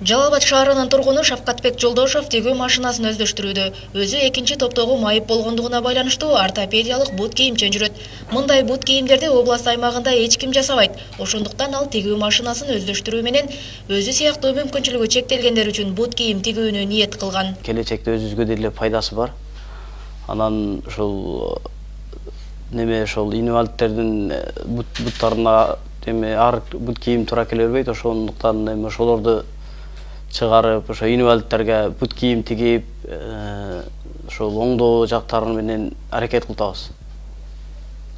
Жалал Абад шаарынын тургуну Шапкатбек Жолдошов тигүү машинасын өздөштүрүүдө. Өзү экинчи топтогу майып болгондугуна байланыштуу ортопедиялык бут кийимчен жүрөт. Мындай бут кийимдерди область аймагында эч ким жасабайт. Ошондуктан ал тигүү машинасын өздөштүрүү менен өзү сыяктуу мүмкүнчүлүгү чектелгендер үчүн бут кийим тигүүнү ниет кылган. Келечекте өзүбүзгө деле пайдасы бар. Анан ошол инвалидтердин буттарына ар бут кийим туура келе бербейт. Ошондуктан ошолорду чыгарып, ошо инвалидтерге бут кийим тигип, ошол оңдоо жактары менен аракет кылабыз.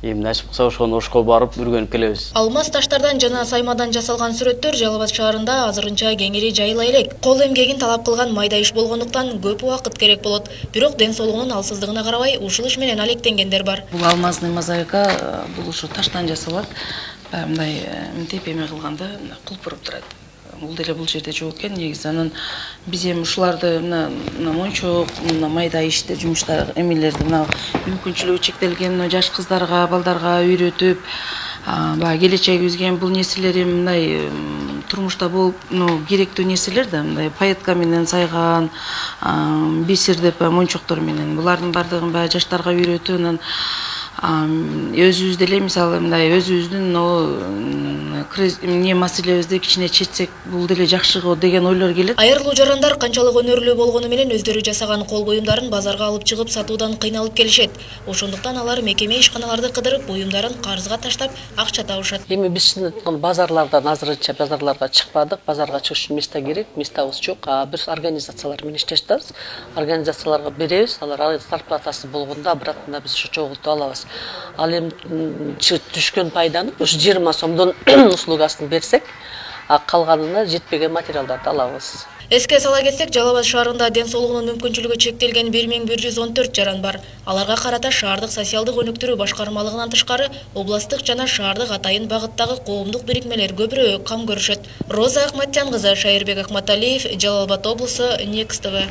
Эмне ачып калса ошко барып үргөнүп келебиз. Алмаз таштардан жана саймадан жасалган сүрөттөр Жалал Абад шаарында азырынча кеңири жайыла элек. Кол эмгегин талап кылган майда иш болгондуктан көп убакыт керек болот. Бирок ден соолугунун алсыздыгына карабай ушул иш менен алектенгендер бар. Бул алмазный мозаика бул ушу таштан жасалат. Мындай мынтип эме кылганда кулпуруп турат. Бул деле бул жерде жок экен негизи. Анан биз эми ушуларды мына мончок, мына майда иштер, жумуштар, эмелерди мына мүмкүнчүлүгү чектелген жаш кыздарга, балдарга үйрөтүп, баягы келечегибизге бул нерселер мындай турмушта болуп, керектүү нерселер да, мындай паетка менен сайган, бисер деп мончоктор менен. Булардын бардыгын баягы жаштарга үйрөтүп, анан өзүбүз деле мисалы мындай өзүбүздүн эмне маселебизди кичине чечсек бул деле жакшы го деген ойлор келет. Айырлуу жарандар канчалык өнөрлүү болгону менен өздөрү жасаган кол буюмдарын базарга алып чыгып сатуудан кыйналып келишет. Ошондуктан алар мекеме ишканаларды кыдырып буюмдарын карызга таштап акча табышат. Эми биз чын айтканда базарлардан азырынча базарларга чыкпадык. Базарга чыгыш үчүн место керек, местабыз жок. Биз организациялар менен иштеп жатабыз. Организацияларга беребиз. Алар зарплатасы болгондо обратно биз ошо чогултуп алабыз. Ал эми түшкөн пайданы ушу 20 сомдон услугасын берсек, калганына жетпеген материалдарды алабыз. Эске сала кетсек, Жалал Абад шаарында ден соолугунун мүмкүнчүлүгү чектелген 1114 жаран бар. Аларга карата шаардык социалдык өнүктүрүү башкармалыгынан тышкары областтык жана шаардык атайын багыттагы коомдук бирикмелер көбүрөөк кам көрүшөт. Роза Акматжан кызы, Шайырбек Акматалиев, Жалал Абад облусу, Next TV.